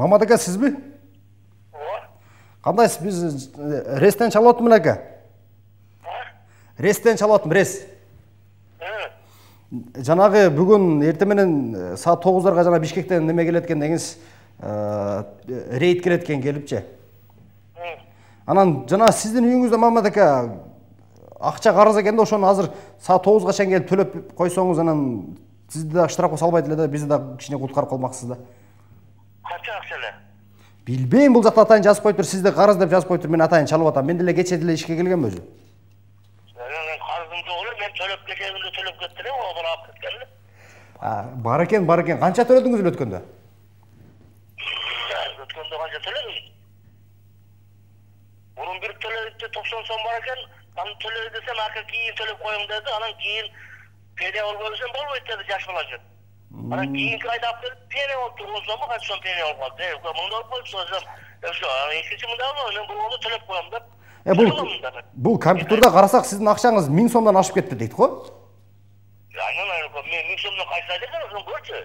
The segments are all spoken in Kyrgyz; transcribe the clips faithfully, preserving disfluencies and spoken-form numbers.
Мамат ака, сизби? Ооба. Кандайсыз? Биз рестен чалып атам ака. Рестен чалып атам, рес. Жанагы бүгүн эртең менен саат тогуздарга жана Бишкектен неме келет экен деңиз, рейд келет экен келипчи. Анан жана сиздин үйүңүздө Мамат ака акча карыз экен да, ошону азыр саат тогузга чейин келип төлөп койсоңуз, анан сизди да штрафка салбайт эле да, бизди да кичине куткарып калмаксыз да. Канча акча эле? Билбейм, бул жакта атайын жазып коюптур, сизди карыз деп жазып коюптур, мен атайын чалып атам. Мен деле кече деле ишке келгем өзү. Карызым жок эле, мен төлөп кечегинде төлөп кеттим эле, одан алып кеткен эле. А, бар экен, бар экен. Канча төлөдүңүз эле өткөндө? Өткөндө канча төлөдүм? Мурун бир төлөдү токсон сом бар экен, аны төлөй десем, ака кийин төлөп коюң деди, анан кийин пене болбой десем болбойт деди, жаш бала үчүн. Анан кийинки айда алып келип пене болуп турган сомго канча сом пене болуп калды. Э, мындай болуп койчу десем, ошо, экинчи мындай болду, мен бул төлөп коем деп. Э, бул бул компьютерде карасак сиздин акчаңыз миң сомдон ашып кетти дейт го. Айнан айнан, мен миң сомдон кайсы айда экен, ошону көрчү.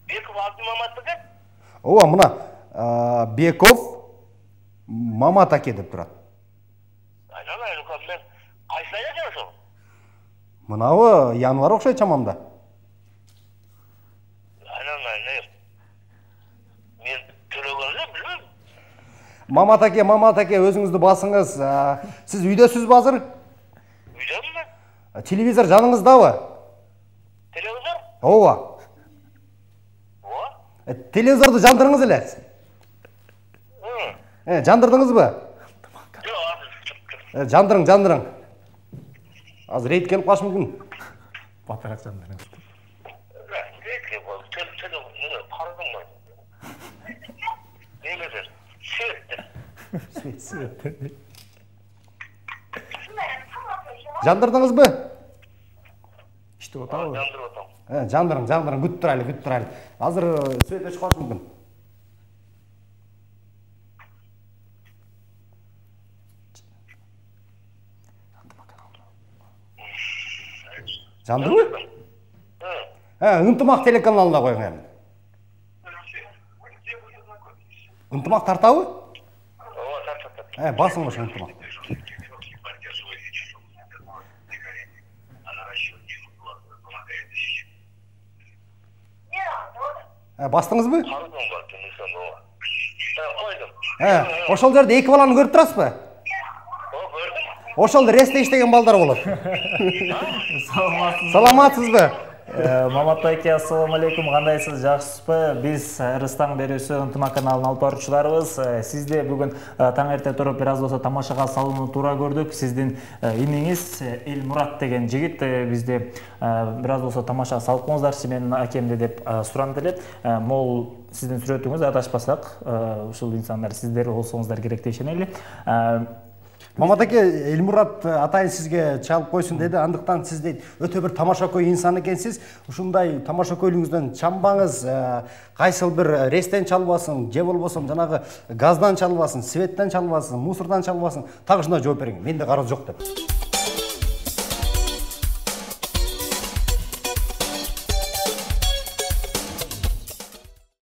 Беков Абдимамат экен. Ооба, мына Беков Мамат аке деп турат. Айнан айнан, мен кайсы айда экен ошол? Мынабы январь окшойт чамамда. Айнан айнан. Мен төлөгөн эле билбейм. Мамат аке, Мамат аке, өзүңүздү басыңыз. Сиз үйдөсүзбү азыр? Үйдөмүн мен. Телевизор жаныңыздабы? Телевизор? Ооба. Ооба. Телевизорду жандырыңыз эле. Э, жандырдыңызбы? Жок, азыр. Жандырың, жандырың. Азыр рейд келип калышы мүмкүн. Батыраак жандырың. Рейд келип калды. Телефон, неме, карызым бар. Немеден? Светте. Светте. Жандырдыңызбы? Иштеп атабы? Жандырып атам. Э, жандырың, жандырың, күтүп турайлы, күтүп турайлы. Азыр свет өчүп калышы мүмкүн. Жандырбы? Э, ынтымак телеканалына коюң эми. Ынтымак тартабы? Ооба, тартат. Э, басың ошо ынтымак. Э, бастыңызбы? Карызым бар, демесем ооба. Э, койдум. Э, ошол жерде эки баланы көрүп турасызбы? О, көрдүм. Ошол ресте иштеген балдар болот. Саламатсызбы? Саламатсызбы? Мамат аке, ассаламу алейкум, кандайсыз, жакшысызбы? Биз Рыстаң берүүсү Ынтымак каналынын алып баруучуларыбыз. Сизди бүгүн таң эрте туруп бир аз болсо тамашага салууну туура көрдүк. Сиздин иниңиз Элмурат деген жигит бизди бир аз болсо тамашага салып коңуздарчы менин акемди деп суранды эле. Могул сиздин сүрөтүңүз, адашпасак, ушул инсандар сиздер болсоңуздар керек деп ишенели. Мамат аке, Элмурат атайын сизге чалып койсун деди. Андыктан сиз дейт, өтө бир тамашакөй инсан экенсиз. Ушундай тамашакөйлүгүңүздөн чамбаңыз кайсыл бир рестен чалбасын, же болбосо жанагы газдан чалбасын, светтен чалбасын, мусордан чалбасын. Так ушундай жооп бериң. Менде карыз жок деп.